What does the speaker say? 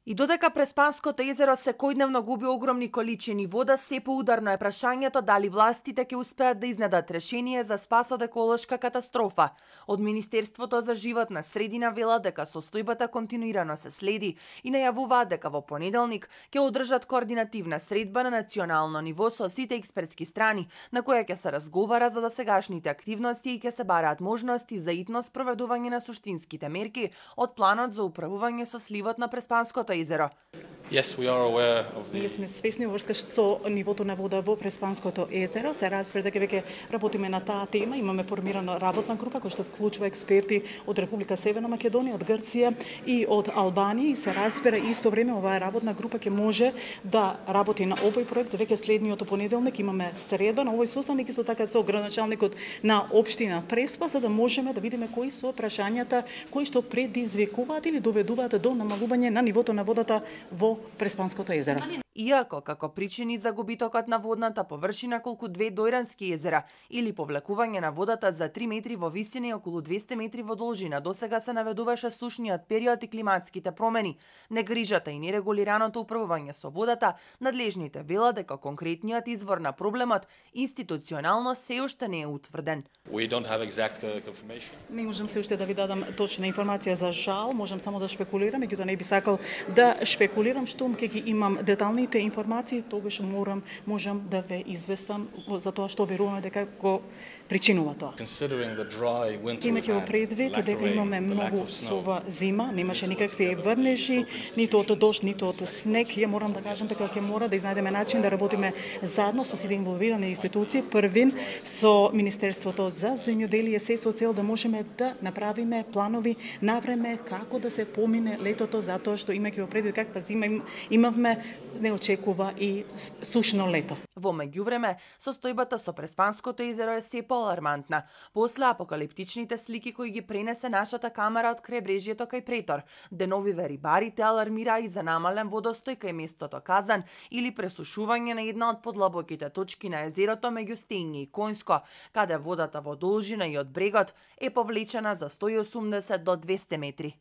И додека Преспанското езеро секојдневно губи огромни количини вода, се поударно е прашањето дали властите ќе успеат да изнедат решение за спас од еколошка катастрофа. Од Министерството за животна средина велат дека состојбата континуирано се следи и најавуваат дека во понеделник ќе одржат координативна средба на национално ниво со сите експертски страни, на која ќе се разговара за досегашните активности и ќе се бараат можности за итно спроведување на суштинските мерки од планот за управување со сливот на Преспанското езеро. Ние сме свесни врска со нивото на вода во Преспанското езеро. Се разбира дека веќе работиме на таа тема. Имаме формирана работна група која што вклучува експерти од Република Северна Македонија, од Грција и од Албанија. И се разбира исто време оваа работна група ќе може да работи на овој проект. Веќе следниот понеделник имаме средба на овој состанок исто така со градоначалникот на општина Преспа, за да можеме да видиме кои се прашањата кои што предизвикуваат или доведуваат до намалување на нивото на водата во Преспанското езеро. Иако како причини за губитокот на водната површина колку 2 дојрански езера или повлекување на водата за 3 метри во висина и околу 200 метри во должина, досега се наведуваше сушниот период и климатските промени, негрижата и нерегулираното управување со водата, надлежните велат дека конкретниот извор на проблемот институционално се уште не е утврден. Не можам се уште да ви дадам точна информација за жал, можам само да шпекулирам, меѓутоа не би сакал да шпекулирам, штом ќе ги имам деталните информации, тогаш можам да ве известам за тоа што веруваме дека го причинува тоа. Имајќи во предвид дека имаме многу сува зима, немаше никакви врнежи, ниту од дожд, ниту од снег, ја морам да кажам дека ќе мора да изнајдеме начин да работиме заедно со сите инволвирани институции, првин со Министерството за земјоделие, се со цел да можеме да направиме планови на време како да се помине летото, затоа што имајќи во предвид каква зима имавме, не очекува и сушно лето. Во меѓувреме, состојбата со Преспанското езеро е се поалармантна. После апокалиптичните слики кои ги пренесе нашата камера од крајбрежјето кај Претор, деновиве рибарите алармираа и за намален водостој кај местото Казан или пресушување на една од подлабоките точки на езерото меѓу Стење и Коњско, каде водата во должина и од брегот е повлечена за 180 до 200 метри.